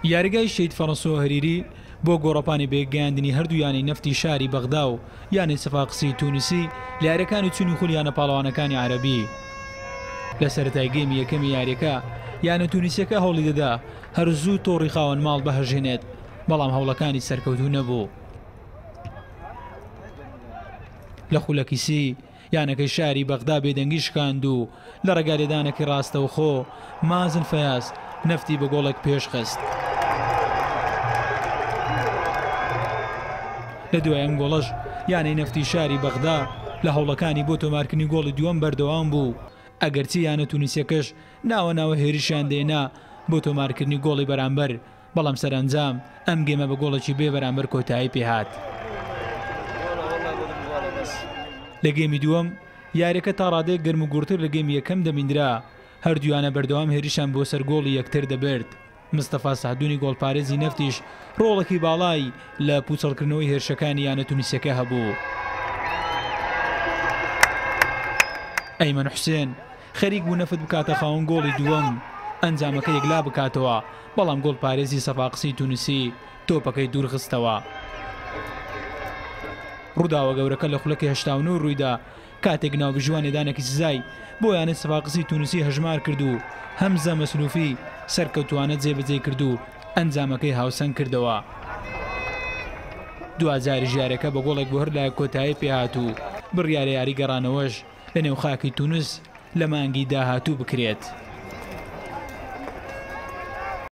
یاریگای شەهید فەرەنسۆ هەریری بۆ گۆڕەپانی بەیەکگەیاندنی هەردوو یانەی نەفتی شاری بەغدا و یانەی سەفاقسی تونسی لە یاریەکانی چوونی خولی یانە پاڵەوانەکانی عەرەبی. لە سەرەتای گێمی یەکەمی یاریەکە یانە تونسیەکە هەوڵی دەدا هەر زوو تۆڕی خاوەن ماڵ بهەژێنێت، بەڵام هەوڵەکانی سەرکەوتوو نەبوو. لە خولەکی 30 یانەکەی شاری بەغدا بێدەنگی شکاند و لە ڕێگای لێدانێکی ڕاستەوخۆ مازن فەیاز نەفتی بە گۆڵێک پێشخست. لە دوای ئەم گۆڵەش یانەی نەفتی شاری بەغدا لە هەوڵەکانی بۆ تۆمارکردنی گۆڵی دووەم بەردەوام بوو، ئەگەرچی یانە تونسیەکەش ناوە ناوە هێرشیان دێنا بۆ تۆمارکردنی گۆڵی بەرامبەر، بەڵام سەرئەنجام ئەم گێمە بە گۆڵێکی بێ بەرامبەر کۆتایی پێهات. لە گێمی دووەم یاریەکە تا ڕادەیەک گەرموگوڕتر لە گێمی یەکەم دەبیندرا، هەردوویانە بەردەوام هێرشیان بۆ سەر گۆڵی یەکتر دەبرد، مستەفا سەعدونی گۆڵپارێزی نەفتیش ڕۆڵێکی باڵای لە پوچەڵکردنەوەی هێرشەکانی یانە تونسیەکە هەبوو. ئەیمەن حوسێن خەریک بوو نەفت بکاتە خاوەن گۆڵی دووەم ئەنجامەکە یەکلا بکاتەوە، بەڵام گۆڵپارێزی سەفاقسی تونسی تۆپەکەی دوورخستەوە. ڕووداوە گەورەکە لە خولەکی 89 ڕوویدا کاتێک ناوبژیوان لێدانێکی سزای بۆ یانەی سەفاقسی تونسی هەژمار کرد و هەمزە مەسلوفی سەرکەوتووانە جێبەجێی کرد و ئەنجامەکەی هاوسەنگ کردەوە. دواجاریش یاریەکە بە گۆڵێک بۆ هەر لایەک کۆتایی پێهات و بڕیارە یاری گەڕانەوەش لەنێو خاکی تونس لە مانگی داهاتوو بکرێت.